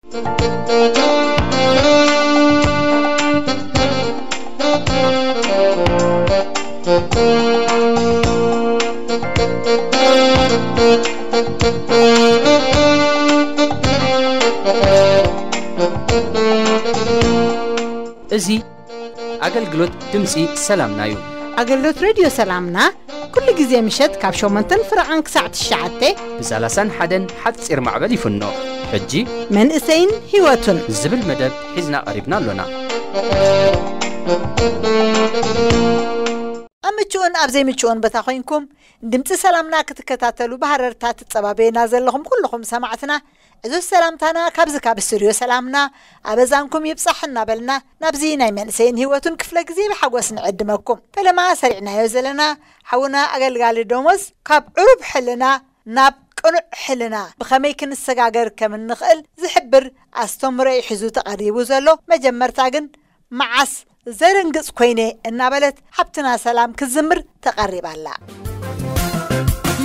እዚ ኣገልግሎት ድምፂ ሰላምና እዩ። ኣገልግሎት ሬድዮ ሰላምና ኩሉ ግዜ ምሸት ካብ ሸሞንተን ፍረቓን ክሳዕ ትሽዓተ ብሳላሳን ሓደን ሓፂር ማዕበል ይፍኖ። ሕጂ መንእሰይን ህይወቱን ዝብል መደብ ሒዝና ቀሪብና ኣሎና። ኣብ ምቹእን ኣብ ዘይምቹእን ቦታ ኮይንኩም ድምፂ ሰላምና ክትከታተሉ ብሃረርታ ትጸባበዩና ዘለኹም ኩልኹም ሰማዕትና፣ ዕዙዝ ሰላምታና ካብዚ ካብ ስቱድዮ ሰላምና ኣበዛንኩም ይብጻሕ እናበልና፣ ናብዚ ናይ መንእሰይን ህይወቱን ክፍለ ግዜ ብሓጎስ ንዕድመኩም። ፈለማ ሰሪዕናዮ ዘለና ሓውና ኣገልጋሊ ደሞዝ፣ ካብ ዕሩብ ሕልና ናብ ቅኑዕ ሕልና ብኸመይ ክንሰጋገር ከም እንኽእል ዝሕብር ኣስተምህሮ እዩ ሒዙ ተቐሪቡ ዘሎ። መጀመርታ ግን መዓስ ዘደንግጽ ኮይነ እናበለት ሓብትና ሰላም ክትዝምር ተቐሪባ ኣላ።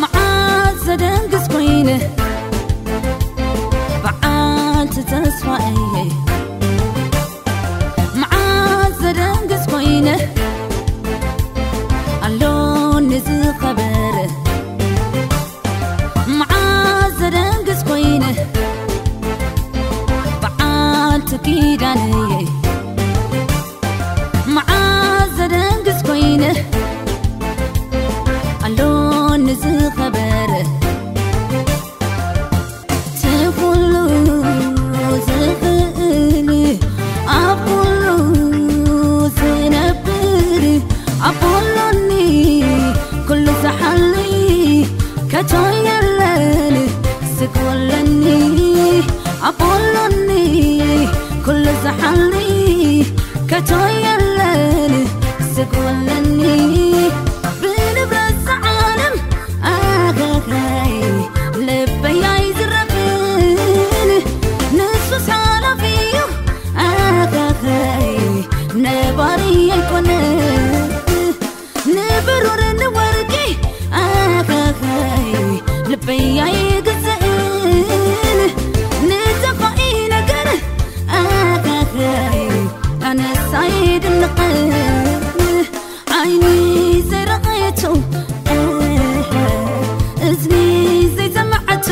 መዓስ ዘደንግጽ ኮይነ በዓልቲ ተስፋ እየ። መዓስ ዘደንግጽ ኮይነ ኣሎኒ ዝኸበረ። መዓስ ዘደንግጽ ኮይነ በዓልቲ ኪዳን እየ። መዓስ ዘደንግጽ ኮይነ ኣሎኒ ዝኸበረ። እቲ ኩሉ ዝኽእል ኣብ ኩሉ ዝነብር ኣቦ ኣሎኒ ኩሉ ዝሓሊ ከቶ የለን ስግ ወለኒ ኣቦ ኣሎኒ ኩሉ ዝሓሊ ከቶ የለን ስግ ወለኒ ብንብረት ዝዓለም ኣኸኸይ ልበይ ኣይዝረፍን ንሱስ ሓላፊ እዩ ኣኸኸይ ነባሪ ኣይኮነን ንብሩር ንወርቂ ኣኸኸይ ልበይ ኣይግዝእን ንጠፋኢ ነገር ኣኸኸይ ኣነስ ኣይድንቕን ዓይኒ ዘይረቐየቶ እዝኒ ዘይሰማዓቶ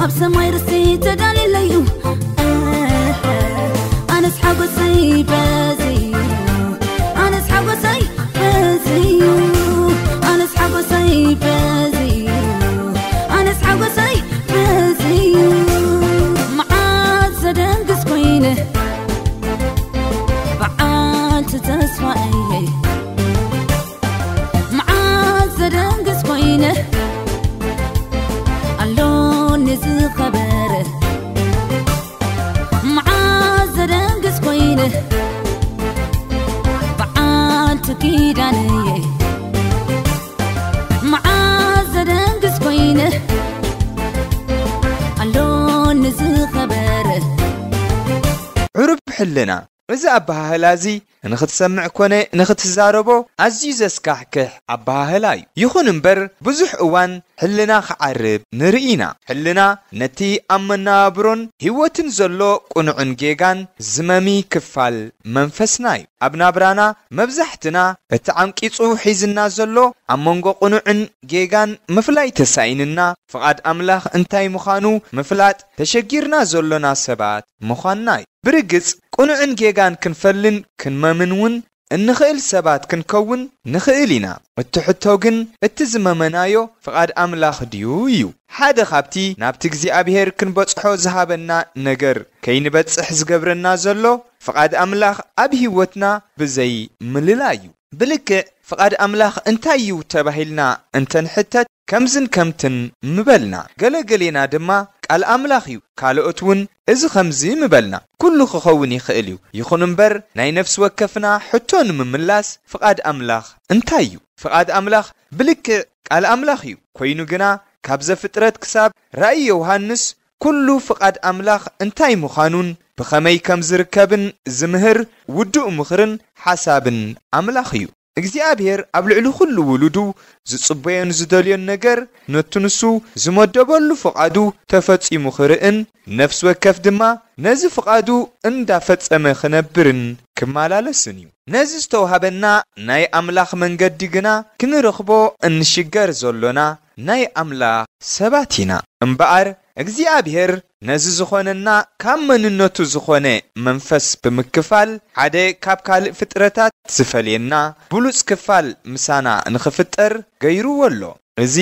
ኣብ ሰማይ ርስቲ ተዳልየለዩ ኣነስ ሓጎሰይ በዝዩ ኣነስ ሓጎሰይ በዝዩ ኣነስ ሓጎሰይ በዝዩ ኣነስ ሓጎሰይ በዝዩ መዓት ዘደንግስ ኮይነ በዓልቲ ተስፋ እየ መዓት ዘደንግስ ኮይነ ኣሎኒ ዝኸበረ መዓት ዘደንግስ ኮይነ በዓልቲ ኪዳን እየ መዓት ዘደንግስ ኮይነ ኣሎኒ ዝኸበረ ዕሩብ ሕልና እዚ ኣበሃህላ እዚ ንኽትሰምዕ ኮነ ንኽትዛረቦ ኣዝዩ ዘስካሕክሕ ኣበሃህላ እዩ። ይኹን እምበር ብዙሕ እዋን ሕልና ክዓርብ ንርኢ ኢና። ሕልና ነቲ ኣብ መነባብሮን ህይወትን ዘሎ ቅኑዕን ጌጋን ዝመሚ ክፋል መንፈስና እዩ። ኣብ ናብራና መብዛሕትና እቲ ዓምቂጹ ሒዝና ዘሎ ኣብ መንጎ ቅኑዕን ጌጋን ምፍላይ ተሳኢንና ፍቓድ ኣምላኽ እንታይ ምዃኑ ምፍላጥ ተሸጊርና ዘሎና ሰባት ምዃንና እዩ። ብርግጽ ቅኑዕን ጌጋን ክንፈልን ክንመምን እውን እንኽእል ሰባት ክንከውን ንኽእል ኢና። እቲ ሕቶ ግን እቲ ዝመመናዮ ፍቓድ ኣምላኽ ድዩ እዩ። ሓደ ካብቲ ናብቲ እግዚኣብሔር ክንበጽሖ ዝሃበና ነገር ከይንበጽሕ ዝገብረና ዘሎ ፍቓድ ኣምላኽ ኣብ ህይወትና ብዘይ ምልላይ እዩ። ብልክዕ ፍቓድ ኣምላኽ እንታይ እዩ ተባሂልና እንተንሕተት ከምዝን ከምትን ምበልና። ገለገሌና ድማ ቃል ኣምላኽ እዩ፣ ካልኦት እውን እዚ ከምዚ ምበልና። ኩሉ ክኸውን ይኽእል እዩ። ይኹን እምበር ናይ ነፍሲ ወከፍና ሕቶ ንምምላስ ፍቓድ ኣምላኽ እንታይ እዩ? ፍቓድ ኣምላኽ ብልክዕ ቃል ኣምላኽ እዩ። ኮይኑ ግና ካብ ዘፍጥረት ክሳብ ራእይ ዮሃንስ ኩሉ ፍቓድ ኣምላኽ እንታይ ምዃኑን ብኸመይ ከም ዝርከብን ዝምህር ውዱእ ምኽርን ሓሳብን ኣምላኽ እዩ። እግዚኣብሔር ኣብ ልዕሊ ኩሉ ውሉዱ ዝጽበዮን ዝደልዮን ነገር ነቱ ንሱ ዝመደበሉ ፍቓዱ ተፈጺሙ ክርእን፣ ነፍሲ ወከፍ ድማ ነዚ ፍቓዱ እንዳፈጸመ ክነብርን ክመላለስን እዩ። ነዚ ዝተዋህበና ናይ ኣምላኽ መንገዲ ግና ክንረኽቦ እንሽገር ዘሎና ናይ ኣምላኽ ሰባት ኢና። እምበኣር እግዚኣብሔር ነዚ ዝኾነና ካብ መንነቱ ዝኾነ መንፈስ ብምክፋል ሓደ ካብ ካልእ ፍጥረታት ዝፈልየና ብሉጽ ክፋል ምሳና ንኽፍጠር ገይርዎ ኣሎ። እዚ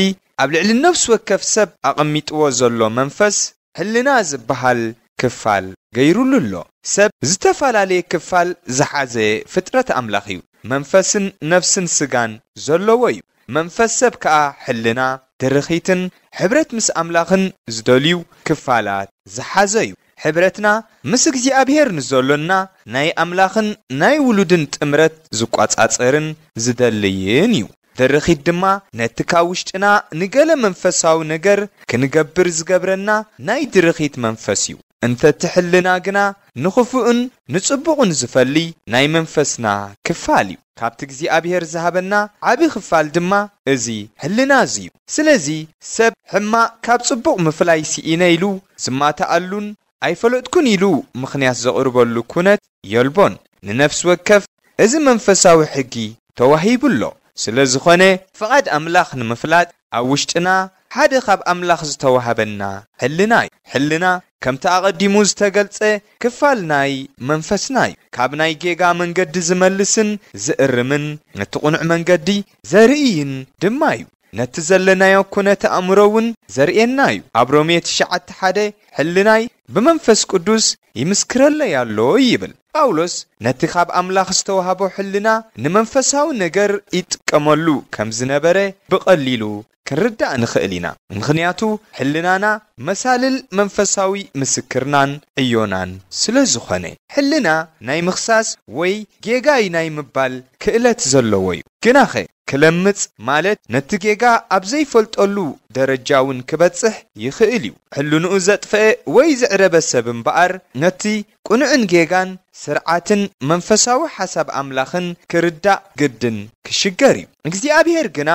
ኣብ ልዕሊ ነፍሲ ወከፍ ሰብ ኣቐሚጥዎ ዘሎ መንፈስ ሕልና ዝበሃል ክፋል ገይሩሉ ኣሎ። ሰብ ዝተፈላለየ ክፋል ዝሓዘ ፍጥረት ኣምላኽ እዩ። መንፈስን ነፍስን ስጋን ዘለዎ እዩ። መንፈስ ሰብ ከኣ ሕልና፣ ድርኺትን ሕብረት ምስ ኣምላኽን ዝደልዩ ክፋላት ዝሓዘ እዩ። ሕብረትና ምስ እግዚኣብሔር ንዘሎና ናይ ኣምላኽን ናይ ውሉድን ጥምረት ዝቋጻጸርን ዝደልይን እዩ። ድርኺት ድማ ነቲ ካብ ውሽጥና ንገለ መንፈሳዊ ነገር ክንገብር ዝገብረና ናይ ድርኺት መንፈስ እዩ። እንተቲ ሕልና ግና ንኽፉእን ንጽቡቕን ዝፈሊ ናይ መንፈስና ክፋል እዩ። ካብቲ እግዚኣብሔር ዝሃበና ዓቢ ክፋል ድማ እዚ ሕልና እዚ እዩ። ስለዚ ሰብ ሕማቕ ካብ ጽቡቕ ምፍላይ ስኢነ ኢሉ ዝማትኣሉን ኣይፈለጥኩን ኢሉ ምኽንያት ዘቕርበሉ ኩነት የልቦን። ንነፍሲ ወከፍ እዚ መንፈሳዊ ሕጊ ተዋሂቡ ኣሎ። ስለ ዝኾነ ፍቓድ ኣምላኽ ንምፍላጥ ኣብ ውሽጥና ሓደ ካብ ኣምላኽ ዝተዋህበና ሕልና እዩ። ሕልና ከምቲ ኣቐዲሙ ዝተገልጸ ክፋል ናይ መንፈስና እዩ። ካብ ናይ ጌጋ መንገዲ ዝመልስን ዝእርምን ነቲ ቅኑዕ መንገዲ ዘርእይን ድማ እዩ። ነቲ ዘለናዮ ኩነተ ኣእምሮ እውን ዘርእየና እዩ። ኣብ ሮሜ ትሽዓተ ሓደ ሕልናይ ብመንፈስ ቅዱስ ይምስክረለይ ኣሎ ይብል። ጳውሎስ ነቲ ካብ ኣምላኽ ዝተዋህቦ ሕልና ንመንፈሳዊ ነገር ይጥቀመሉ ከም ዝነበረ ብቐሊሉ ክንርዳእ ንኽእል ኢና። ምኽንያቱ ሕልናና መሳልል መንፈሳዊ ምስክርናን ዕዮናን ስለ ዝኾነ። ሕልና ናይ ምኽሳስ ወይ ጌጋይ ናይ ምባል ክእለት ዘለዎ እዩ። ግናኸ ክለምጽ ማለት ነቲ ጌጋ ኣብ ዘይፈልጠሉ ደረጃ እውን ክበጽሕ ይኽእል እዩ። ሕልንኡ ዘጥፈአ ወይ ዘዕረበ ሰብ እምበኣር ነቲ ቅኑዕን ጌጋን ስርዓትን መንፈሳዊ ሓሳብ ኣምላኽን ክርዳእ ግድን ክሽገር እዩ። እግዚኣብሔር ግና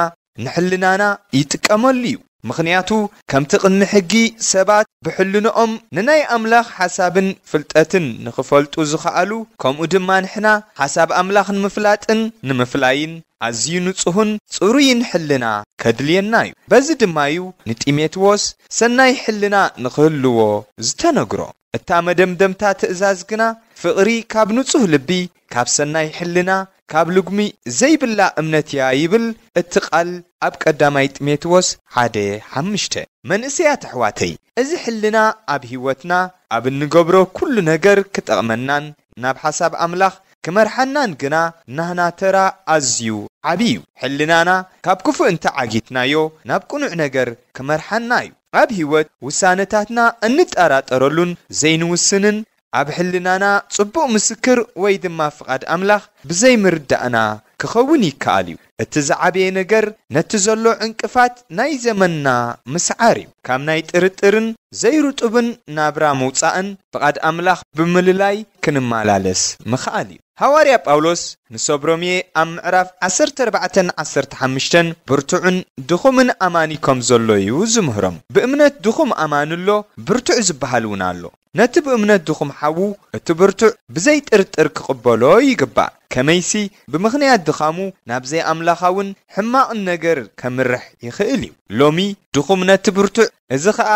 ንሕልናና ይጥቀመሉ እዩ። ምኽንያቱ ከምቲ ቅድሚ ሕጊ ሰባት ብሕልንኦም ንናይ ኣምላኽ ሓሳብን ፍልጠትን ንኽፈልጡ ዝኸኣሉ፣ ከምኡ ድማ ንሕና ሓሳብ ኣምላኽ ንምፍላጥን ንምፍላይን ኣዝዩ ንጹህን ጽሩይን ሕልና ከድልየና እዩ። በዚ ድማ እዩ ንጢሞቴዎስ ሰናይ ሕልና ንኽህልዎ ዝተነግሮ። እታ መደምደምታ ትእዛዝ ግና ፍቕሪ ካብ ንጹህ ልቢ፣ ካብ ሰናይ ሕልና፣ ካብ ልጉሚ ዘይብላ እምነት እያ ይብል እቲ ቃል ኣብ ቀዳማይ ጢሞቴዎስ ሓደ ሓሙሽተ። መንእሰያት ኣሕዋተይ፣ እዚ ሕልና ኣብ ህይወትና ኣብ እንገብሮ ኩሉ ነገር ክጠቕመናን ናብ ሓሳብ ኣምላኽ ክመርሓናን ግና ናህና ተራ ኣዝዩ ዓቢ እዩ። ሕልናና ካብ ክፉእ እንተ ዓጊትናዮ ናብ ቅኑዕ ነገር ክመርሓና እዩ። ኣብ ህይወት ውሳነታትና እንጠራጠረሉን ዘይንውስንን ኣብ ሕልናና ጽቡቕ ምስክር ወይ ድማ ፍቓድ ኣምላኽ ብዘይምርዳእና ክኸውን ይከኣል እዩ። እቲ ዝዓበየ ነገር ነቲ ዘሎ ዕንቅፋት ናይ ዘመንና ምስዓር እዩ። ካብ ናይ ጥርጥርን ዘይርጡብን ናብራ ምውጻእን ፍቓድ ኣምላኽ ብምልላይ ክንመላለስ ምኽኣል እዩ። ሃዋርያ ጳውሎስ ንሰብ ሮሜ ኣብ ምዕራፍ ዓሰርተ ኣርባዕተን ዓሰርተ ሓሙሽተን ብርቱዕን ድኹምን ኣማኒ ከም ዘሎ እዩ ዝምህሮም። ብእምነት ድኹም ኣማኒ ኣሎ፣ ብርቱዕ ዝበሃል እውን ኣሎ። ነቲ ብእምነት ድኹም ሓዉ እቲ ብርቱዕ ብዘይ ጥርጥር ክቕበሎ ይግባእ። ከመይሲ ብምኽንያት ድኻሙ ናብ ዘይኣምላኻውን ሕማቕን ነገር ከምርሕ ይኽእል እዩ። ሎሚ ድኹም ነቲ ብርቱዕ፣ እዚ ኸኣ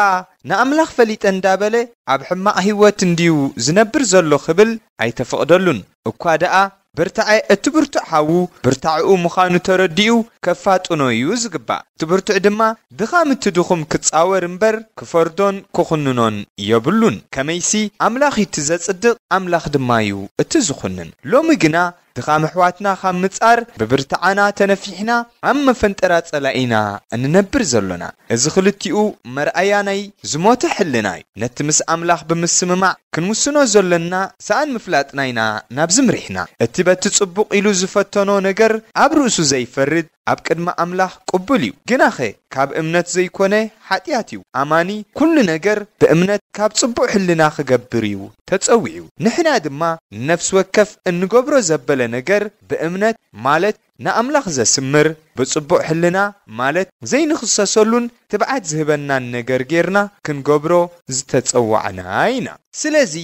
ንኣምላኽ ፈሊጠ እንዳበለ ኣብ ሕማቕ ህይወት እንድዩ ዝነብር ዘሎ ክብል ኣይተፈቕደሉን። እኳ ደኣ ብርታዐ እቲ ብርቱዕ ሓዉ ብርታዕኡ ምዃኑ ተረዲኡ ከፋጥኖ እዩ ዝግባእ። እቲ ብርቱዕ ድማ ድኻም እቲ ድኹም ክጻወር እምበር ክፈርዶን ክኹንኖን የብሉን። ከመይሲ ኣምላኽ እዩ እቲ ዘጽድቕ፣ ኣምላኽ ድማ እዩ እቲ ዝኹንን። ሎሚ ግና ድኻም ኣሕዋትና ካብ ምጻር ብብርትዓና ተነፊሕና ኣብ መፈንጠራ ጸላኢና እንነብር ዘሎና። እዚ ክልቲኡ መርኣያ ናይ ዝሞተ ሕልና እዩ። ነቲ ምስ ኣምላኽ ብምስምማዕ ክንውስኖ ዘሎና ሰኣን ምፍላጥና ኢና ናብዚ ምሪሕና። እቲ በቲ ጽቡቕ ኢሉ ዝፈተኖ ነገር ኣብ ርእሱ ዘይፈርድ፣ ኣብ ቅድሚ ኣምላኽ ቅቡል እዩ። ግናኸ ካብ እምነት ዘይኮነ ሓጢኣት እዩ። ኣማኒ ኩሉ ነገር ብእምነት ካብ ጽቡቕ ሕልና ክገብር እዩ ተጸዊዑ። ንሕና ድማ ንነፍሲ ወከፍ እንገብሮ ዘበለ ነገር ብእምነት ማለት ንኣምላኽ ዘስምር ብጽቡቕ ሕልና ማለት ዘይንኽሰሰሉን ትብዓት ዝህበናን ነገር ጌርና ክንገብሮ ዝተጸዋዕና ኢና። ስለዚ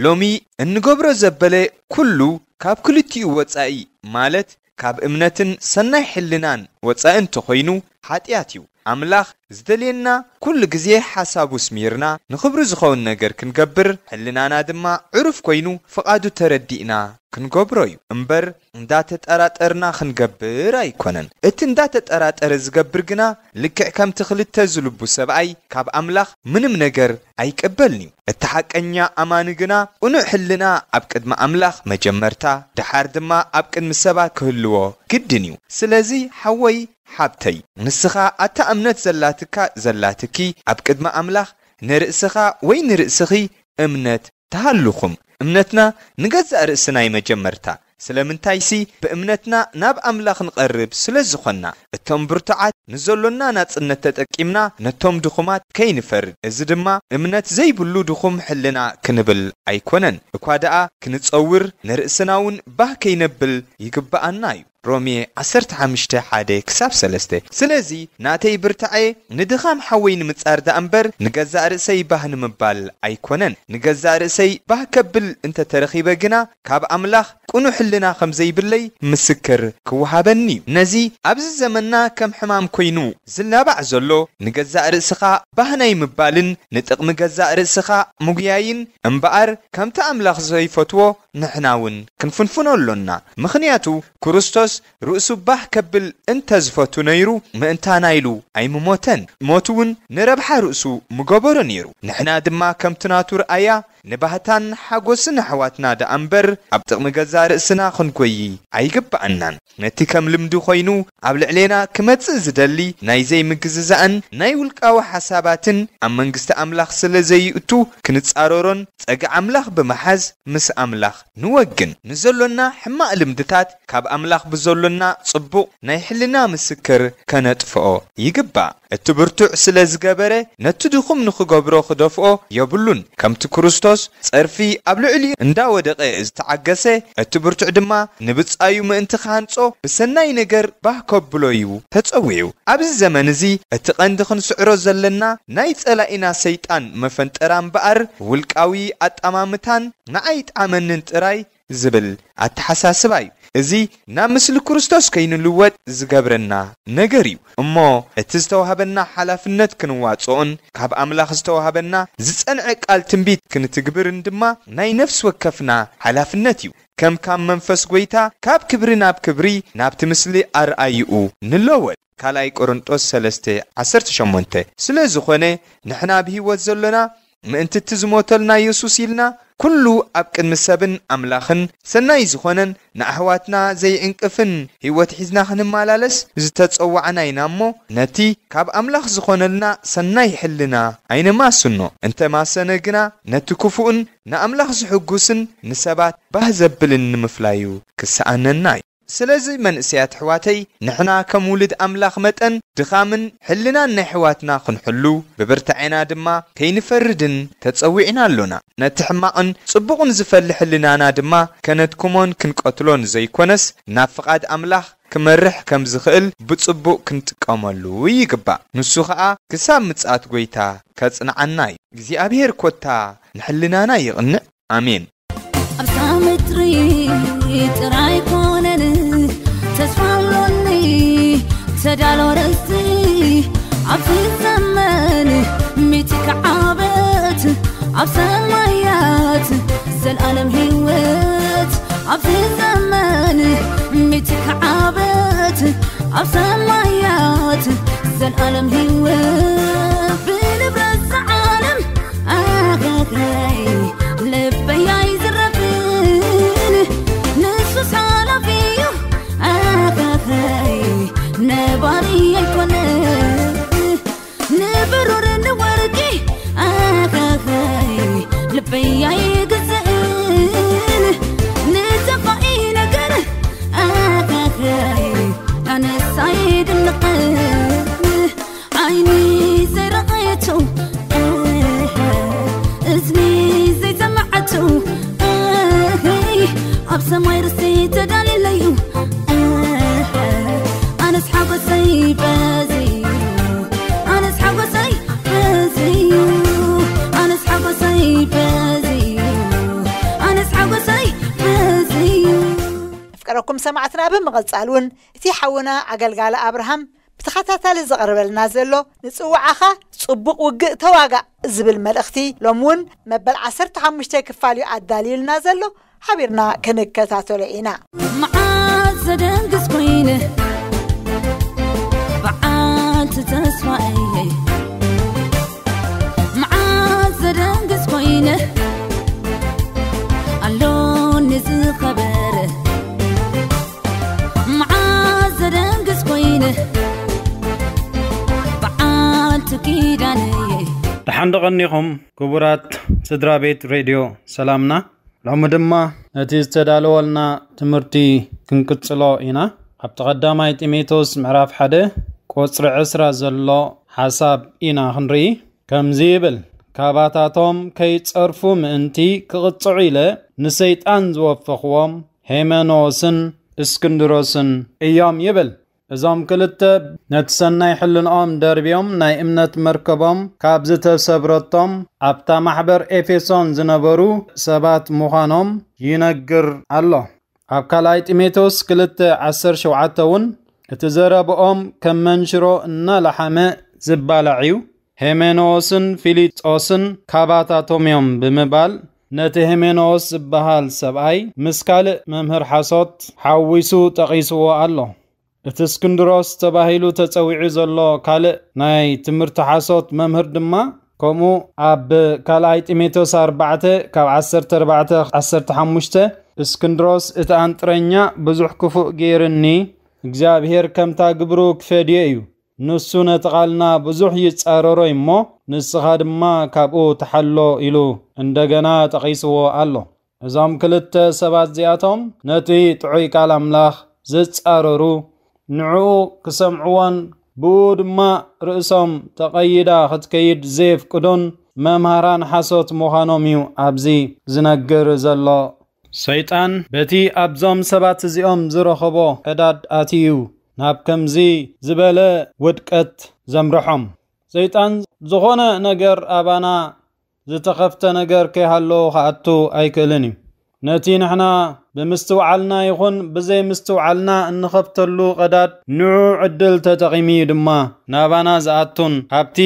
ሎሚ እንገብሮ ዘበለ ኩሉ ካብ ክልቲኡ ወጻኢ ማለት ካብ እምነትን ሰናይ ሕልናን ወጻኢ እንተኾይኑ ሓጢኣት እዩ። ኣምላኽ ዝደልየና ኩሉ ግዜ ሓሳቡ ስሚርና ንኽብሩ ዝኸውን ነገር ክንገብር ሕልናና ድማ ዕሩፍ ኮይኑ ፍቓዱ ተረዲእና ክንገብሮ እዩ እምበር እንዳተጠራጠርና ክንገብር ኣይኮነን። እቲ እንዳተጠራጠረ ዝገብር ግና ልክዕ ከምቲ ክልተ ዝልቡ ሰብኣይ ካብ ኣምላኽ ምንም ነገር ኣይቅበልን እዩ። እቲ ሓቀኛ ኣማኒ ግና ቅኑዕ ሕልና ኣብ ቅድሚ ኣምላኽ መጀመርታ ድሓር ድማ ኣብ ቅድሚ ሰባት ክህልዎ ግድን እዩ። ስለዚ ሓወይ ሓብተይ ንስኻ ኣታ እምነት ዘላትካ ዘላትኪ ኣብ ቅድሚ ኣምላኽ ንርእስኻ ወይ ንርእስኺ እምነት ተሃልኹም። እምነትና ንገዛእ ርእስና እዩ መጀመርታ። ስለምንታይሲ ብእምነትና ናብ ኣምላኽ ንቐርብ ስለ ዝኾንና እቶም ብርቱዓት ንዘሎና ናጽነት ተጠቂምና ነቶም ድኹማት ከይንፈርድ። እዚ ድማ እምነት ዘይብሉ ድኹም ሕልና ክንብል ኣይኮነን። እኳ ደኣ ክንጸውር ንርእስና እውን ባህ ከይነብል ይግብኣና እዩ። ሮሜ ዓሰርተ ሓሙሽተ ሓደ ክሳብ ሰለስተ። ስለዚ ናተይ ብርታዐ ንድኻም ሓወይ ንምጻር ደኣ እምበር ንገዛእ ርእሰይ ባህ ንምባል ኣይኮነን። ንገዛእ ርእሰይ ባህ ከብል እንተተረኺበ ግና ካብ ኣምላኽ ቅኑዕ ሕልና ከም ዘይብለይ ምስክር ክወሃበኒ እዩ። ነዚ ኣብዚ ዘመንና ከም ሕማም ኮይኑ ዝላባዕ ዘሎ ንገዛእ ርእስኻ ባህ ናይ ምባልን ንጥቕሚ ገዛእ ርእስኻ ምጉያይን እምበኣር ከምቲ ኣምላኽ ዘይፈትዎ ንሕና እውን ክንፍንፍኖ ኣሎና። ምኽንያቱ ክርስቶስ ርእሱ ባህ ከብል እንተ ዝፈቱ ነይሩ ምእንታና ኢሉ ኣይምሞተን። ሞት እውን ንረብሓ ርእሱ ምገበሮ ነይሩ። ንሕና ድማ ከምቲ ናቱ ርኣያ ንባህታን ሓጎስን ኣሕዋትና ደኣ እምበር ኣብ ጥቕሚ ገዛእ ርእስና ክንጎዪ ኣይግብኣናን። ነቲ ከም ልምዲ ኮይኑ ኣብ ልዕሌና ክመጽእ ዝደሊ ናይ ዘይምግዝዛእን ናይ ውልቃዊ ሓሳባትን ኣብ መንግስቲ ኣምላኽ ስለ ዘይእቱ ክንጻረሮን ጸጋ ኣምላኽ ብምሓዝ ምስ ኣምላኽ ንወግን። ንዘሎና ሕማቕ ልምድታት ካብ ኣምላኽ ብዘሎና ጽቡቕ ናይ ሕልና ምስክር ከነጥፍኦ ይግባእ። እቲ ብርቱዕ ስለ ዝገበረ ነቲ ድኹም ንኽገብሮ ክደፍኦ የብሉን። ከምቲ ክርስቶስ ጸርፊ ኣብ ልዕሊኡ እንዳወደቐ ዝተዓገሰ፣ እቲ ብርቱዕ ድማ ንብጻዩ ምእንቲ ክሃንጾ ብሰናይ ነገር ባህ ከብሎ እዩ ተጸዊዑ። ኣብዚ ዘመን እዚ እቲ ቀንዲ ክንስዕሮ ዘለና ናይ ጸላኢና ሰይጣን መፈንጠራ እምበኣር ውልቃዊ ኣጠማምታን ንዓይ ይጥዓመንን ጥራይ ዝብል ኣተሓሳስባ እዩ። እዚ ናብ ምስሊ ክርስቶስ ከይንልወጥ ዝገብረና ነገር እዩ። እሞ እቲ ዝተዋህበና ሓላፍነት ክንዋጽኦን ካብ ኣምላኽ ዝተዋህበና ዝጸንዐ ቃል ትንቢት ክንትግብርን ድማ ናይ ነፍሲ ወከፍና ሓላፍነት እዩ። ከም ካብ መንፈስ ጐይታ ካብ ክብሪ ናብ ክብሪ ናብቲ ምስሊ ኣርኣይኡ ንለወጥ። ካልኣይ ቆሮንጦስ ሰለስተ ዓሰርተ ሸሞንተ። ስለ ዝኾነ ንሕና ብህይወት ዘሎና ምእንቲ እቲ ዝሞተልና የሱስ ኢልና ኩሉ ኣብ ቅድሚ ሰብን ኣምላኽን ሰናይ ዝኾነን ንኣሕዋትና ዘይዕንቅፍን ህይወት ሒዝና ክንመላለስ ዝተጸዋዕና ኢና እሞ ነቲ ካብ ኣምላኽ ዝኾነልና ሰናይ ሕልና ኣይነማስኖ። እንተማሰነ ግና ነቲ ክፉእን ንኣምላኽ ዝሕጉስን ንሰባት ባህ ዘብልን ንምፍላዩ ክሰኣነና እዩ። ስለዚ መንእሰያት ኣሕዋተይ ንሕና ከም ውሉድ ኣምላኽ መጠን ድኻምን ሕልናን ናይ ኣሕዋትና ክንሕሉ ብብርታዔና ድማ ከይንፈርድን ተጸዊዕና ኣሎና። ነቲ ሕማቕን ጽቡቕን ዝፈሊ ሕልናና ድማ ከነድክሞን ክንቀትሎን ዘይኮነስ ናብ ፍቓድ ኣምላኽ ክመርሕ ከም ዝኽእል ብጽቡቕ ክንጥቀመሉ ይግባእ። ንሱ ኸኣ ክሳብ ምጽኣት ጐይታ ከጽንዓና እዩ። እግዚኣብሔር ኮታ ንሕልናና ይቕንዕ። ኣሜን። ኣብዛ ምድሪ ጥራይ ኮነን ተስፋ ኣሎኒ ተዳሎ ርስቲ ኣብዚ ዘመን ሚቲ ክዓበት ኣብ ሰማያት ዘልኣለም ህይወት ኣብዚ ዘመን ሚቲ ክዓበት ኣብ ሰማያት ዘልኣለም ህይወት ብንብረት ዝዓለም ኣኸኸይ ልበይ ኣይዝረፍን ንሱስ ሓላፊ እዩ ኣኸኸይ ነባሪ ኣይኮነን ንብሩር ንወርቂ ኣኸኸይ ልበይ ኣይግዝእን ንጠፋኢ ነገር ኣኸኸይ ኣነሳይ ኣብ ሰማይ ርስቲ ተዳልየለዩ። ኣነስ ሓጎሰይ በዝዩ፣ ኣነስ ሓጎሰይ በዝዩ፣ ኣነስ ሓጎሰይ በዝዩ፣ ኣነስ ሓጎሰይ በዝዩ። ኣፍቀረኩም ሰማዕትና፣ ብምቕጻል እውን እቲ ሓውና ኣገልጋሊ ኣብርሃም ብተኸታታሊ ዘቕርበልና ዘሎ፣ ንጽውዓኻ ጽቡቕ ውግእ ተዋጋእ ዝብል መልእኽቲ፣ ሎም እውን መበል ዓሰርተ ሓሙሽተ ክፋል እዩ ኣዳልዩልና ዘሎ። ሓቢርና ክንከታተሎ ኢና። መዓዝ ዘደንግስ ኮይነ፣ በዓልቲ ተስፋ እየ። መዓዝ ዘደንግስ ኮይነ፣ ኣሎኒ ዝኸበረ። መዓዝ ዘደንግስ ኮይነ፣ በዓልቲ ኪዳን እየ። ደሓን ዶ ቀኒኹም ክቡራት ስድራ ቤት ሬድዮ ሰላምና? ሎሚ ድማ ነቲ ዝተዳለወልና ትምህርቲ ክንቅጽሎ ኢና። ኣብቲ ቀዳማይ ጢሞቴዎስ ምዕራፍ ሓደ ቁጽሪ ዕስራ ዘሎ ሓሳብ ኢና ክንርኢ። ከምዚ ይብል፣ "ካባታቶም ከይጸርፉ ምእንቲ ክቕጽዑ ኢለ ንሰይጣን ዝወፈኽዎም ሄሜኖስን እስክንድሮስን እዮም" ይብል። እዞም ክልተ ነቲ ሰናይ ሕልንኦም ደርብዮም ናይ እምነት መርከቦም ካብ ዝተሰብረቶም ኣብታ ማሕበር ኤፌሶን ዝነበሩ ሰባት ምዃኖም ይነግር ኣሎ። ኣብ ካልኣይ ጢሞቴዎስ ክልተ ዓሰርተ ሸውዓተ እውን እቲ ዘረብኦም ከም መንሽሮ እናለሓመ ዝባላዕ እዩ። ሄሜኖስን ፊሊጦስን ካባታቶም እዮም ብምባል ነቲ ሄሜኖስ ዝበሃል ሰብኣይ ምስ ካልእ መምህር ሓሶት ሓዊሱ ጠቒስዎ ኣሎ። እቲ እስክንድሮስ ተባሂሉ ተጸዊዑ ዘሎ ካልእ ናይ ትምህርቲ ሓሶት መምህር ድማ ከምኡ ኣብ ካልኣይ ጢሞቴዎስ ኣርባዕተ ካብ ዓሰርተ ኣርባዕተ ዓሰርተ ሓሙሽተ፣ "እስክንድሮስ እቲ ኣንጥረኛ ብዙሕ ክፉእ ገይርኒ፣ እግዚኣብሔር ከምታ ግብሩ ክፈድዮ እዩ። ንሱ ነቲ ቃልና ብዙሕ ይጻረሮ እሞ፣ ንስኻ ድማ ካብኡ ተሓሎ" ኢሉ እንደገና ጠቒስዎ ኣሎ። እዞም ክልተ ሰባት እዚኣቶም ነቲ ጥዑይ ቃል ኣምላኽ ዝጻረሩ፣ ንዕኡ ክሰምዕዎን ብኡ ድማ ርእሶም ተቐይዳ ክትከይድ ዘየፍቅዱን መምሃራን ሓሶት ምዃኖም እዩ ኣብዚ ዝነግር ዘሎ። ሰይጣን በቲ ኣብዞም ሰባት እዚኦም ዝረኸቦ ዕዳድ ኣትዩ ናብ ከምዚ ዝበለ ውድቀት ዘምርሖም። ሰይጣን ዝኾነ ነገር ኣባና ዝተኸፍተ ነገር ከይሃሎ ክኣቱ ኣይክእልን እዩ። ነቲ ንሕና ብምስትውዓልና ይኹን ብዘይምስትውዓልና እንኸፍተሉ ቀዳድ ንዑ ዕድል ተጠቒሙ እዩ ድማ ናባና ዝኣቱን ካብቲ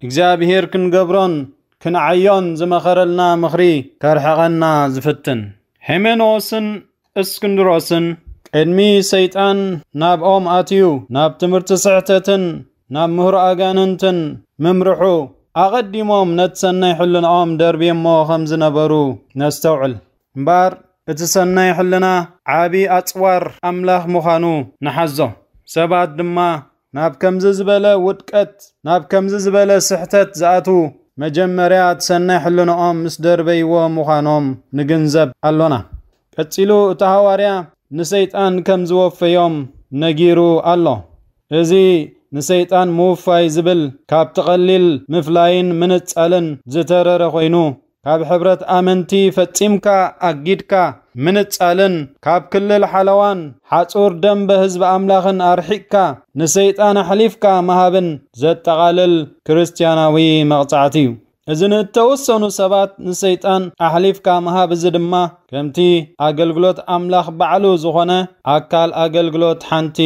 እግዚኣብሔር ክንገብሮን ክንዓዮን ዝመኸረልና ምኽሪ ከርሕቐና ዝፍትን። ሄሜኖስን እስክንድሮስን ቅድሚ ሰይጣን ናብኦም ኣትዩ ናብ ትምህርቲ ስሕተትን ናብ ምህሮ ኣጋንንትን ምምርሑ ኣቐዲሞም ነቲ ሰናይ ሕልናኦም ደርብየሞ ከም ዝነበሩ ነስተውዕል። እምበኣር እቲ ሰናይ ሕልና ዓቢ ኣጽዋር ኣምላኽ ምዃኑ ንሓዞ። ሰባት ድማ ናብ ከምዚ ዝበለ ውድቀት፣ ናብ ከምዚ ዝበለ ስሕተት ዝኣትዉ መጀመርያ እቲ ሰናይ ሕልንኦም ምስ ደርበይዎ ምዃኖም ንግንዘብ ኣሎና። ቀጺሉ እቲ ሃዋርያ ንሰይጣን ከም ዝወፈዮም ነጊሩ ኣሎ። እዚ ንሰይጣን ምውፋይ ዝብል ካብቲ ቀሊል ምፍላይን ምንጻልን ዝተረረ ኮይኑ፣ ካብ ሕብረት ኣመንቲ ፈጺምካ ኣጊድካ ምንጻልን ካብ ክልል ሓለዋን ሓጹር ደንበ ህዝቢ ኣምላኽን ኣርሒቕካ ንሰይጣን ኣሕሊፍካ ምሃብን ዘጠቓልል ክርስትያናዊ መቕጻዕቲ እዩ። እዚ ንእተወሰኑ ሰባት ንሰይጣን ኣሕሊፍካ ምሃብ፣ እዚ ድማ ከምቲ ኣገልግሎት ኣምላኽ ባዕሉ ዝኾነ ኣካል ኣገልግሎት ሓንቲ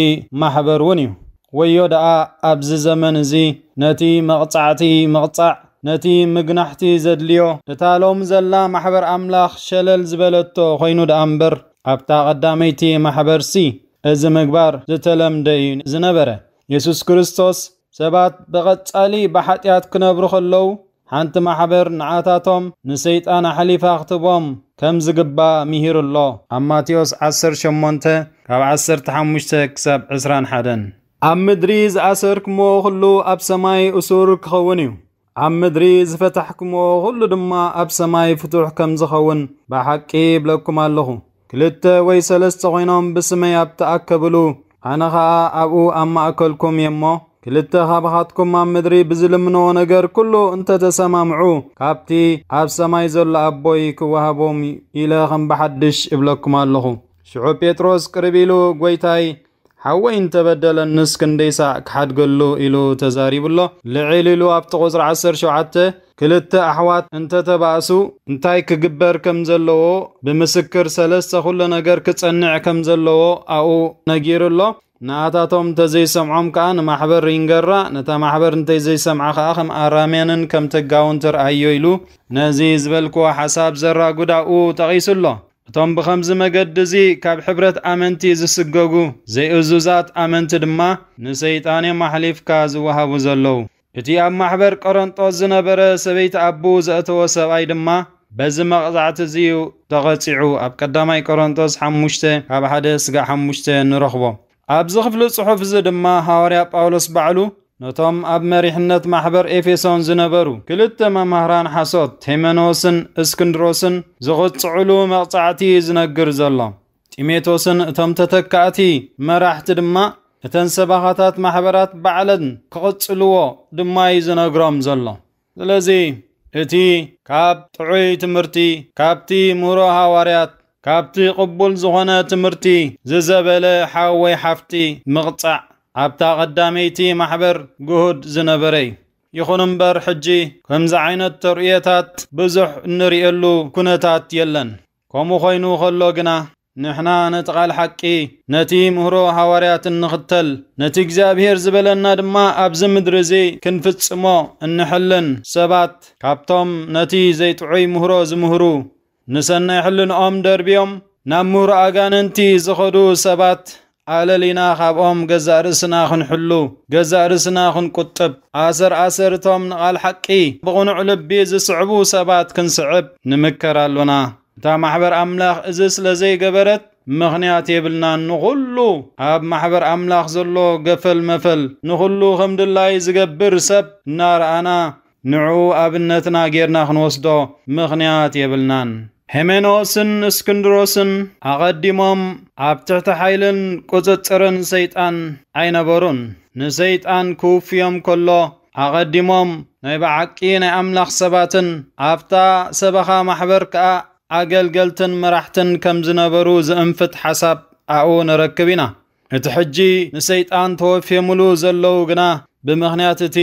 ማሕበር እውን እዩ። ወዮ ደኣ ኣብዚ ዘመን እዚ ነቲ መቕጻዕቲ ምቕጻዕ፣ ነቲ ምግናሕቲ ዘድልዮ፣ እታ ሎም ዘላ ማሕበር ኣምላኽ ሸለል ዝበለቶ ኮይኑ ደኣ እምበር፣ ኣብታ ቀዳመይቲ ማሕበርሲ እዚ ምግባር ዝተለምደ እዩ ዝነበረ። የሱስ ክርስቶስ ሰባት ብቐጻሊ ብሓጢኣት ክነብሩ ከለዉ፣ ሓንቲ ማሕበር ንዓታቶም ንሰይጣን ኣሕሊፋ ክትቦም ከም ዝግባእ ምሂሩ ኣሎ። ኣብ ማቴዎስ ዓሰርተ ሸሞንተ ካብ ዓሰርተ ሓሙሽተ ክሳብ ዕስራን ሓደን። ኣብ ምድሪ ዝኣሰርክምዎ ኩሉ ኣብ ሰማይ እሱር ክኸውን እዩ። ኣብ ምድሪ ዝፈታሕክምዎ ኩሉ ድማ ኣብ ሰማይ ፍቱሕ ከም ዝኸውን ብሓቂ ይብለኩም ኣለኹ። ክልተ ወይ ሰለስተ ኮይኖም ብስመይ ኣብ ተኣከብሉ፣ ኣነ ኸኣ ኣብኡ ኣብ ማእከልኩም እየ እሞ፣ ክልተ ኻባኻትኩም ኣብ ምድሪ ብዝልምንዎ ነገር ኩሉ እንተተሰማምዑ፣ ካብቲ ኣብ ሰማይ ዘሎ ኣቦይ ክወሃቦም ኢለ ከም ብሓድሽ እብለኩም ኣለኹ። ሽዑ ጴጥሮስ ቅርብ ኢሉ፣ "ጐይታይ፣ ሓወይ እንተበደለንስ ክንደይ ሳዕ ክሓድገሉ?" ኢሉ ተዛሪቡ ኣሎ። ልዕል ኢሉ ኣብቲ ቁጽሪ ዓሰርተ ሸውዓተ፣ "ክልተ ኣሕዋት እንተተባእሱ እንታይ ክግበር ከም ዘለዎ፣ ብምስክር ሰለስተ ኩሉ ነገር ክጸንዕ ከም ዘለዎ ኣብኡ ነጊሩ ኣሎ። ንኣታቶም እንተዘይሰምዖም ከኣ ንማሕበር ሪንገራ፣ ነታ ማሕበር እንተዘይሰምዓ ከኣ ከም ኣራምያንን ከም ተጋውን ትርኣዮ" ኢሉ ነዚ ዝበልክዎ ሓሳብ ዘራጉድ ኣብኡ ጠቒሱ ኣሎ። እቶም ብኸምዚ መገዲ እዚ ካብ ሕብረት ኣመንቲ ዝስገጉ ዘይእዙዛት ኣመንቲ ድማ ንሰይጣን እዮም ኣሕሊፍካ ዝወሃቡ ዘለዉ። እቲ ኣብ ማሕበር ቆረንጦስ ዝነበረ ሰበይቲ ኣቦኡ ዘእተወ ሰብኣይ ድማ በዚ መቕጻዕቲ እዚ እዩ ተቐጺዑ። ኣብ ቀዳማይ ቆረንጦስ ሓሙሽተ ካብ ሓደ ስጋዕ ሓሙሽተ ንረኽቦ። ኣብዚ ክፍሊ ጽሑፍ እዚ ድማ ሃዋርያ ጳውሎስ ባዕሉ ነቶም ኣብ መሪሕነት ማሕበር ኤፌሶን ዝነበሩ ክልተ መማህራን ሓሶት፣ ሄሜኖስን እስክንድሮስን፣ ዝቕጽዕሉ መቕጻዕቲ እዩ ዝነግር ዘሎ። ጢሞቴዎስን እቶም ተተካእቲ መራሕቲ ድማ እተን ሰበኻታት ማሕበራት ባዕለን ክቕጽልዎ ድማ እዩ ዝነግሮም ዘሎ። ስለዚ እቲ ካብ ጥዑይ ትምህርቲ፣ ካብቲ ምህሮ ሃዋርያት፣ ካብቲ ቅቡል ዝኾነ ትምህርቲ ዝዘበለ ሓው ወይ ሓፍቲ ምቕጻዕ ኣብታ ቀዳመይቲ ማሕበር ግሁድ ዝነበረ እዩ። ይኹን እምበር፣ ሕጂ ከምዚ ዓይነት ተርእዮታት ብዙሕ እንርእየሉ ኩነታት የለን። ከምኡ ኮይኑ ከሎ ግና፣ ንሕና ነቲ ቃል ሓቂ፣ ነቲ ምህሮ ሃዋርያት እንኽተል፣ ነቲ እግዚኣብሔር ዝበለና ድማ ኣብዚ ምድሪ እዚ ክንፍጽሞ እንሕልን ሰባት፣ ካብቶም ነቲ ዘይጥዑይ ምህሮ ዝምህሩ፣ ንሰናይ ሕልንኦም ደርብዮም ናብ ምህሮ ኣጋንንቲ ዝኸዱ ሰባት ኣለሊና ካብኦም ገዛእ ርእስና ክንሕሉ፣ ገዛእ ርእስና ክንቁጥብ፣ ኣሰር ኣሰርቶም ንቓል ሓቂ ብቕኑዕ ልቢ ዝስዕቡ ሰባት ክንስዕብ ንምከር ኣሎና። እታ ማሕበር ኣምላኽ እዚ ስለ ዘይገበረት ምኽንያት የብልናን። ንኹሉ ኣብ ማሕበር ኣምላኽ ዘሎ ገፈል መፈል፣ ንኹሉ ከም ድላይ ዝገብር ሰብ እናረኣና ንዕኡ ኣብነትና ጌርና ክንወስዶ ምኽንያት የብልናን። ሄሜኖስን እስክንድሮስን ኣቐዲሞም ኣብ ትሕቲ ሓይልን ቁጽጽርን ሰይጣን ኣይነበሩን። ንሰይጣን ክውፍዮም ከሎ ኣቐዲሞም ናይ ብሓቂ ናይ ኣምላኽ ሰባትን ኣብታ ሰበኻ ማሕበር ከኣ ኣገልገልትን መራሕትን ከም ዝነበሩ ዝእንፍት ሓሳብ ኣብኡ ንረክብ ኢና። እቲ ሕጂ ንሰይጣን ተወፍዮምሉ ዘለዉ ግና ብምኽንያት እቲ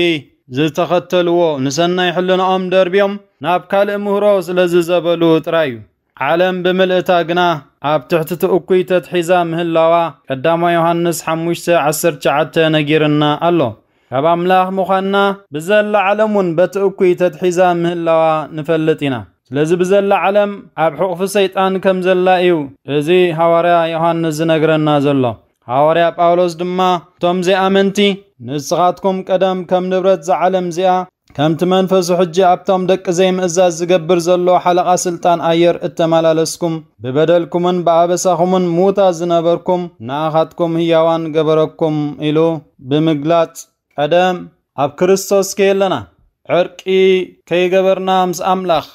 ዝተኸተልዎ ንሰናይ ሕልናኦም ደርብዮም ናብ ካልእ ምህሮ ስለ ዝዘበሉ ጥራይ እዩ። ዓለም ብምልእታ ግና ኣብ ትሕቲ እቲ እኩይ ተትሒዛ ምህላዋ ቀዳማይ ዮሃንስ ሓሙሽተ ዓሰርተ ትሽዓተ ነጊርና ኣሎ። ካብ ኣምላኽ ምዃንና ብዘላ ዓለም እውን በቲ እኩይ ተትሒዛ ምህላዋ ንፈልጥ ኢና። ስለዚ ብዘላ ዓለም ኣብ ሕቑፊ ሰይጣን ከም ዘላ እዩ እዚ ሃዋርያ ዮሃንስ ዝነግረና ዘሎ። ሃዋርያ ጳውሎስ ድማ፣ "እቶም ዘይኣመንቲ፣ ንስኻትኩም ቀደም ከም ንብረት እዛ ዓለም እዚኣ፣ ከምቲ መንፈሱ ሕጂ ኣብቶም ደቂ ዘይምእዛዝ ዝገብር ዘሎ ሓለቓ ስልጣን ኣየር እተመላለስኩም፣ ብበደልኩምን ብኣበሳኹምን ምዉታት ዝነበርኩም፣ ንኣኻትኩም ህያዋን ገበረኩም" ኢሉ ብምግላጽ፣ ቀደም ኣብ ክርስቶስ ከየለና፣ ዕርቂ ከይገበርና ምስ ኣምላኽ፣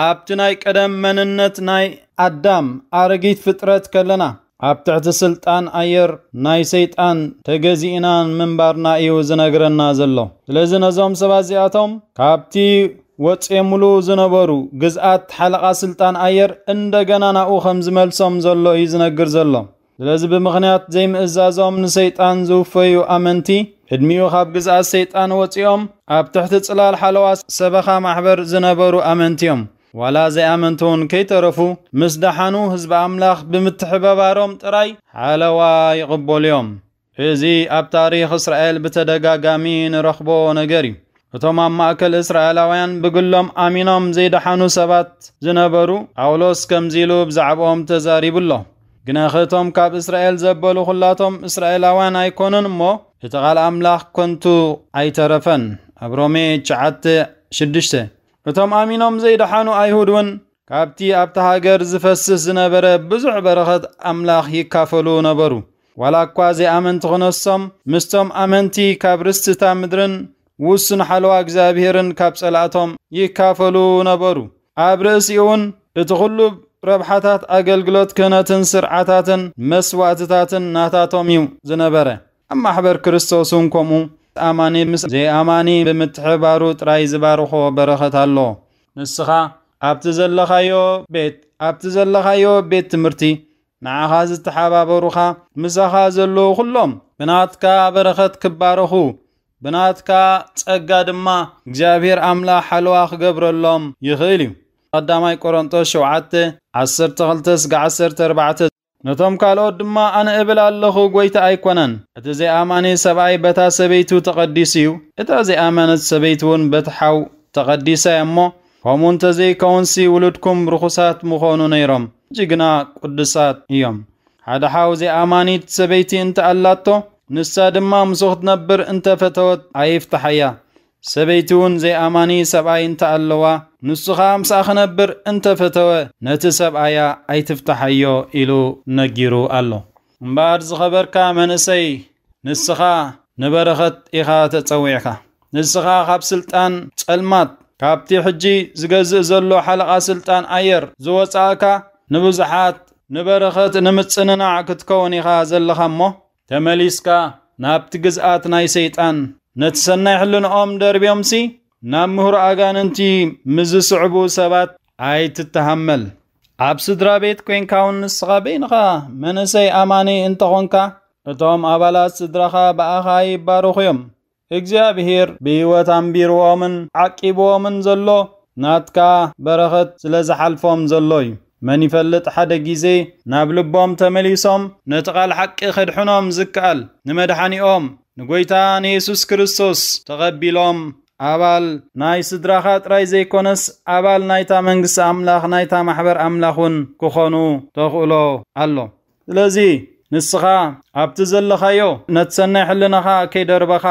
ኣብቲ ናይ ቀደም መንነት ናይ ኣዳም ኣረጊት ፍጥረት ከለና፣ ኣብ ትሕቲ ስልጣን ኣየር ናይ ሰይጣን ተገዚእና ምንባርና እዩ ዝነግረና ዘሎ። ስለዚ ነዞም ሰባት እዚኣቶም ካብቲ ወጽዮምሉ ዝነበሩ ግዝኣት ሓለቓ ስልጣን ኣየር እንደገና ናብኡ ከም ዝመልሶም ዘሎ እዩ ዝነግር ዘሎ። ስለዚ ብምኽንያት ዘይምእዛዞም ንሰይጣን ዝውፈዩ ኣመንቲ፣ ቅድሚኡ ካብ ግዝኣት ሰይጣን ወጺኦም ኣብ ትሕቲ ጽላል ሓለዋ ሰበኻ ማሕበር ዝነበሩ ኣመንቲ እዮም። ዋላ ዘይኣመንቲ እውን ከይተረፉ፣ ምስ ደሓኑ ህዝቢ ኣምላኽ ብምትሕብባሮም ጥራይ ሓለዋ ይቕበሉ እዮም። እዚ ኣብ ታሪኽ እስራኤል ብተደጋጋሚ ንረኽቦ ነገር እዩ። እቶም ኣብ ማእከል እስራኤላውያን ብግሎም ኣሚኖም ዘይደሓኑ ሰባት ዝነበሩ፣ ጳውሎስ ከምዚ ኢሉ ብዛዕባኦም ተዛሪቡ ኣሎ። "ግናኸ እቶም ካብ እስራኤል ዘበሉ ኹላቶም እስራኤላውያን ኣይኮኑን እሞ፣ እቲ ቃል ኣምላኽ ከንቱ ኣይተረፈን" ኣብ ሮሜ ትሽዓተ ሽዱሽተ። እቶም ኣሚኖም ዘይደሓኑ ኣይሁድ እውን ካብቲ ኣብታ ሃገር ዝፈስስ ዝነበረ ብዙሕ በረኸት ኣምላኽ ይካፈሉ ነበሩ። ዋላ እኳ ዘይኣመንቲ ክነሶም፣ ምስቶም ኣመንቲ ካብ ርስቲ እታ ምድርን ውሱን ሓለዋ እግዚኣብሔርን ካብ ጸላእቶም ይካፈሉ ነበሩ። ኣብ ርእሲኡ እውን እቲ ኹሉ ረብሓታት ኣገልግሎት ክህነትን ስርዓታትን መስዋእትታትን ናታቶም እዩ ዝነበረ። ኣብ ማሕበር ክርስቶስ እውን ከምኡ ኣማኒ ምስ ዘይኣማኒ ብምትሕባሩ ጥራይ ዝባርኾ በረኸት ኣሎ። ንስኻ ኣብቲ ዘለኻዮ ቤት ኣብቲ ዘለኻዮ ቤት ትምህርቲ ንዓኻ ዝተሓባበሩኻ ምሳኻ ዘለዉ ኩሎም ብናትካ በረኸት ክባረኹ ብናትካ ጸጋ ድማ እግዚኣብሔር ኣምላኽ ሓለዋ ክገብረሎም ይኽእል እዩ። ቀዳማይ ቆሮንጦስ ሸውዓተ ዓሰርተ ክልተ እስከ ዓሰርተ ኣርባዕተ። ነቶም ካልኦት ድማ ኣነ እብል ኣለኹ፣ ጐይታ ኣይኮነን። እቲ ዘይኣማኒ ሰብኣይ በታ ሰበይቱ ተቐዲሱ እዩ፣ እታ ዘይኣመነት ሰበይቲ እውን በቲ ሓው ተቐዲሳ እያ እሞ፣ ከምኡ እንተ ዘይከውንሲ ውሉድኩም ርኹሳት ምኾኑ ነይሮም፣ ሕጂ ግና ቅዱሳት እዮም። ሓደ ሓው ዘይኣማኒት ሰበይቲ እንተ ኣላቶ፣ ንሳ ድማ ምስኡ ክትነብር እንተ ፈተወት ኣይፍትሓያ። ሰበይቲ እውን ዘይኣማኒ ሰብኣይ እንተ ኣለዋ፣ ንሱ ኸኣ ምስኣ ክነብር እንተ ፈተወ፣ ነቲ ሰብኣያ ኣይትፍትሓዮ ኢሉ ነጊሩ ኣሎ። እምበኣር ዝኸበርካ መንእሰይ፣ ንስኻ ንበረኸት ኢኻ ተጸዊዕካ። ንስኻ ካብ ስልጣን ጸልማት፣ ካብቲ ሕጂ ዝገዝእ ዘሎ ሓለቓ ስልጣን ኣየር ዝወጻእካ፣ ንብዙሓት ንበረኸት ንምጽንናዕ ክትከውን ኢኻ ዘለኻ እሞ፣ ተመሊስካ ናብቲ ግዝኣት ናይ ሰይጣን፣ ነቲ ሰናይ ሕልንኦም ደርብዮምሲ፣ ናብ ምህሮ ኣጋንንቲ ምስ ዝስዕቡ ሰባት ኣይትተሃመል። ኣብ ስድራ ቤት ኮይንካ እውን ንስኻ በይንኻ መንእሰይ ኣማኒ እንተኾንካ፣ እቶም ኣባላት ስድራኻ ብኣኻ ይባረኹ እዮም። እግዚኣብሔር ብህይወት ኣንቢርዎምን ዓቂብዎምን ዘሎ ናትካ በረኸት ስለ ዝሓልፎም ዘሎ እዩ። መን ይፈልጥ፣ ሓደ ግዜ ናብ ልቦም ተመሊሶም ነቲ ቃል ሓቂ ከድሕኖም ዝከኣል፣ ንመድሓኒኦም ንጐይታ ንየሱስ ክርስቶስ ተቐቢሎም ኣባል ናይ ስድራኻ ጥራይ ዘይኮነስ፣ ኣባል ናይታ መንግስቲ ኣምላኽ፣ ናይታ ማሕበር ኣምላኽ እውን ክኾኑ ተኽእሎ ኣሎ። ስለዚ ንስኻ ኣብቲ ዘለኻዮ ነቲ ሰናይ ሕልናኻ ከይደርበኻ፣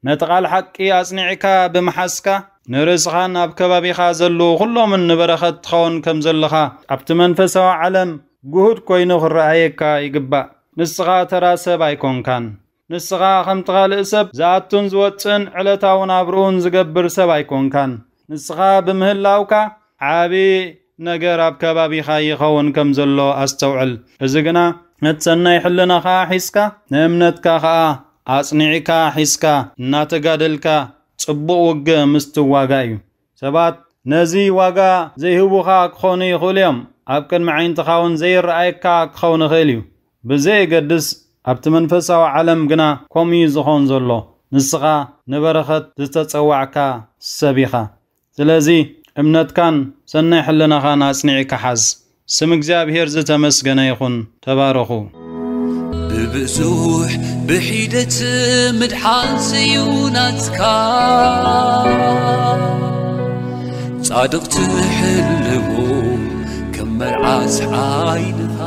ነቲ ቃል ሓቂ ኣጽኒዕካ ብምሓዝካ፣ ንርእስኻን ኣብ ከባቢኻ ዘለዉ ኩሎምን ንበረኸት ትኸውን ከም ዘለኻ ኣብቲ መንፈሳዊ ዓለም ግሁድ ኮይኑ ክረኣየካ ይግባእ። ንስኻ ተራ ሰብ ኣይኮንካን። ንስኻ ከምቲ ካልእ ሰብ ዝኣቱን ዝወጽእን ዕለታዊ ናብርኡን ዝገብር ሰብ ኣይኮንካን። ንስኻ ብምህላውካ ዓቢ ነገር ኣብ ከባቢኻ ይኸውን ከም ዘሎ ኣስተውዕል። እዚ ግና ነቲ ሰናይ ሕልናኻ ሒዝካ፣ ንእምነትካ ኸኣ ኣጽኒዕካ ሒዝካ፣ እናተጋደልካ ጽቡቕ ውግእ ምስትዋጋእ እዩ። ሰባት ነዚ ዋጋ ዘይህቡኻ ክኾኑ ይኽእሉ እዮም። ኣብ ቅድሚ ዓይንትኻ እውን ዘይረኣየካ ክኸውን ይኽእል እዩ። ብዘየገድስ ኣብቲ መንፈሳዊ ዓለም ግና ከምኡ እዩ ዝኾን ዘሎ። ንስኻ ንበረኸት ዝተጸዋዕካ ሰብ ኢኻ። ስለዚ እምነትካን ሰናይ ሕልናኻን ኣጽኒዕካ ሓዝ። ስም እግዚኣብሔር ዝተመስገነ ይኹን። ተባረኹ። ብብዙሕ ብሒደት ምድሓን ስዩ ናትካ። ጻድቕ ትሕልሞ ከም መርዓት ዓይንኻ።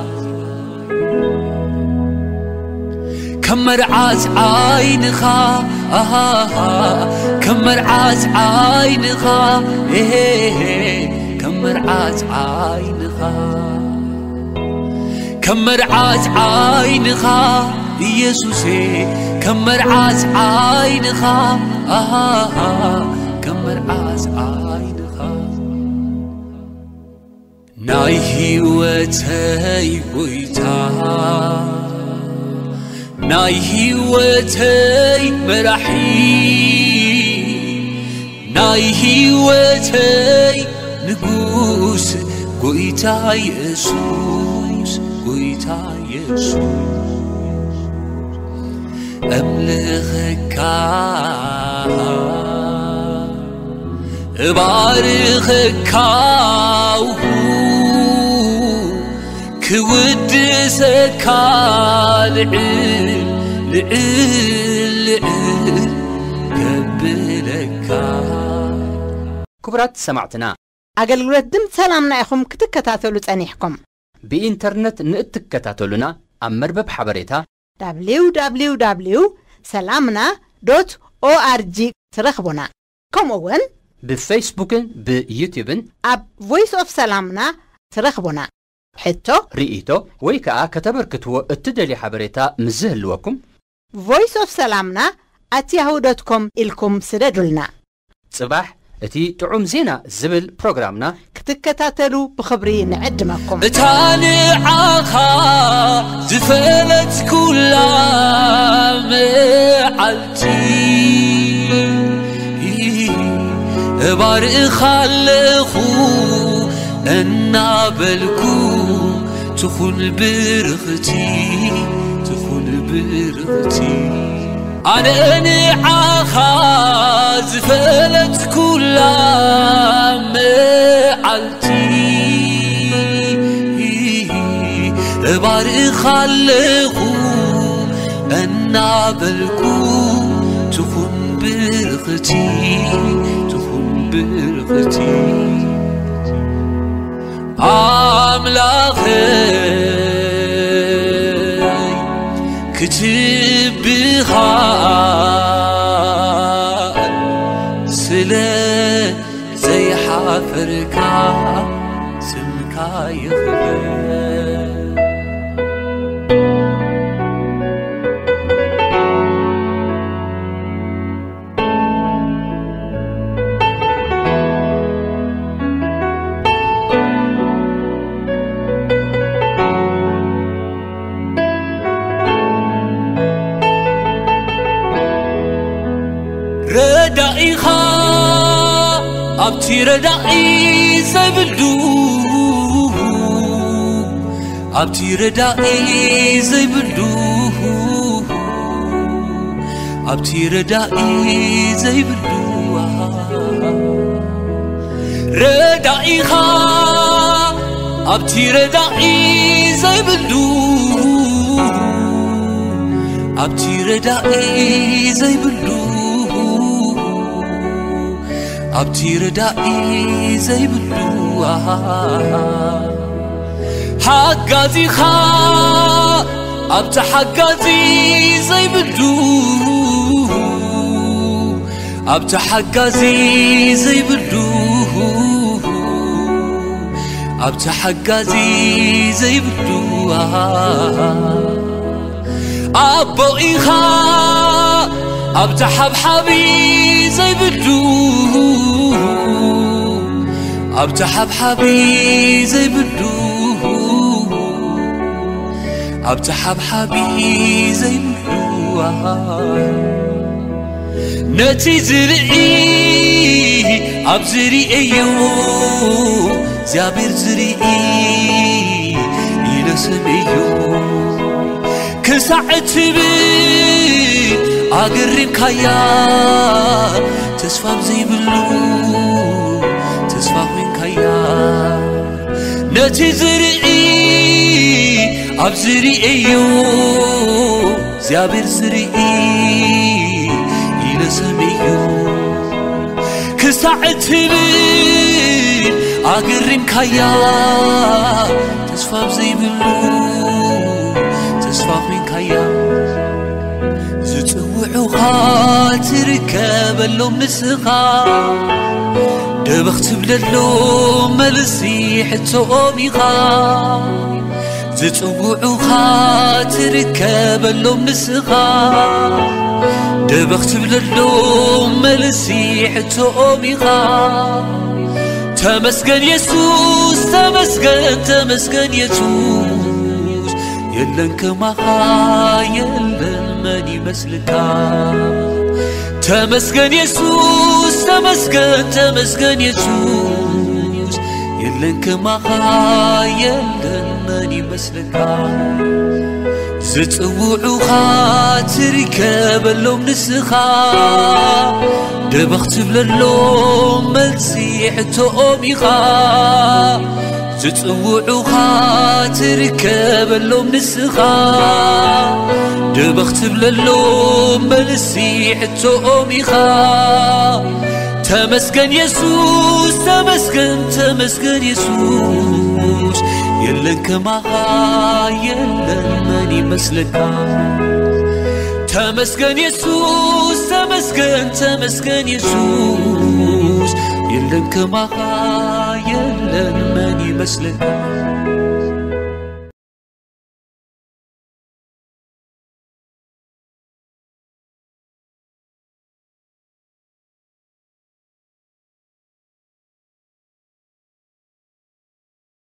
ከም መርዓት ዓይንኻ፣ ኣሃ፣ ከም መርዓት ዓይንኻ፣ ኤሄ፣ ከም መርዓት ዓይንኻ። ከም መርዓት ዓይንኻ ኢየሱሴ፣ ከም መርዓት ዓይንኻ፣ ኣሃ፣ ከም መርዓት ዓይንኻ። ናይ ህይወተይ ጎይታ፣ ናይ ህይወተይ መራሒ፣ ናይ ህይወተይ ንጉስ፣ ጎይታ የሱስ፣ ጎይታ የሱስ። ኣምልኸካ፣ እባርኸካ፣ ክውድሰካ፣ ልዕል፣ ልዕል፣ ልዕል ከብለካ። ክቡራት ሰማዕትና፣ ኣገልግሎት ድምፂ ሰላምና ኢኹም ክትከታተሉ ጸኒሕኩም። ብኢንተርነት ንእትከታተሉና፣ ኣብ መርበብ ሓበሬታ www ሰላምና ዶት ኦኣርጂ ትረኽቡና። ከምኡ እውን ብፌስቡክን ብዩትዩብን ኣብ ቮይስ ኦፍ ሰላምና ትረኽቡና። ሕቶ፣ ርኢቶ ወይ ከኣ ከተበርክትዎ እትደልዩ ሓበሬታ ምስ ዝህልወኩም፣ ቮይስ ኦፍ ሰላምና ኣት ያሁ ዶት ኮም ኢልኩም ስደዱልና። ጽባሕ እቲ ጥዑም ዜና ዝብል ፕሮግራምና ክትከታተሉ ብኽብሪ ንዕድመኩም። እታ ንዓኻ ዝፈለትኩላ መዓልቲ እባርኻ ኣለኹ እናበልኩ ትኹን ብርኽቲ ትኹን ብርኽቲ ኣነ ንዓኻ ዝፈለትኩላ መዓልቲ እባርኻ ኣለኹ እናበልኩ ትኹን ብርኽቲ ትኹን ብርኽቲ ኣምላኸይ ክትብሃል ስለ ዘይሓፈርካ ስምካ ይኽበር። ረዳኢኻ ኣብቲ ረዳኢ ዘይብሉ ኣብቲ ረዳኢ ዘይብሉ ኣብቲ ረዳኢ ዘይብሉ ረዳኢኻ ኣብቲ ረዳኢ ዘይብሉ ኣብቲ ረዳኢ ዘይብሉ ኣብቲ ረዳኢ ዘይብሉ ሓጋዚኻ ኣብቲ ሓጋዚ ዘይብሉ ኣብቲ ሓጋዚ ዘይብሉ ኣብቲ ሓጋዚ ዘይብሉ ኣቦ ኢኻ ኣብቲ ሓብሓቢ ዘይብሉ ኣብቲ ሓብሓቢ ዘይብሉ ኣብቲ ሓብሓቢ ዘይብሉ ነቲ ዝርኢ ኣብ ዝርእዮ እግዚኣብሔር ዝርኢ ኢለ ሰምዮ ክሳዕ እትብል ኣገሪምካያ ተስፋ ዘይብሉ ተስፋ ኮይንካያ ነቲ ዝርኢ ኣብ ዝርእዮ እግዚኣብሔር ዝርኢ ኢለ ሰምዮ ክሳዕ እትብል ኣገሪምካያ ተስፋ ዘይብሉ ተስፋ ኮይንካያ ዝጽውዑኻ ትርከበሎም ንስኻ ደበኽ ትብለሎም መልሲ ሕቶኦም ኢኻ ዝጽውዑኻ ትርከበሎም ንስኻ ደበኽ ትብለሎም መልሲ ሕቶኦም ኢኻ ተመስገን የሱስ ተመስገን ተመስገን የሱስ የለን ከማኻ የለን መን ይመስልካ ተመስገን የሱስ ተመስገን ተመስገን የሱስ የለን ከማኻ የለን መን ይመስልካ ዝጽውዑኻ ትርከበሎም ንስኻ ደበኽ ትብለሎም መልሲ ሕቶኦም ኢኻ ዝጽውዑኻ ትርከበሎም ንስኻ ደበኽ ትብለሎም መልሲ ሕቶኦም ኢኻ ተመስገን የሱስ ተመስገን ተመስገን የሱስ የለን ከማኻ የለን መን ይመስለካ ተመስገን የሱስ ተመስገን ተመስገን የሱስ የለን ከማኻ የለን መን ይመስለካ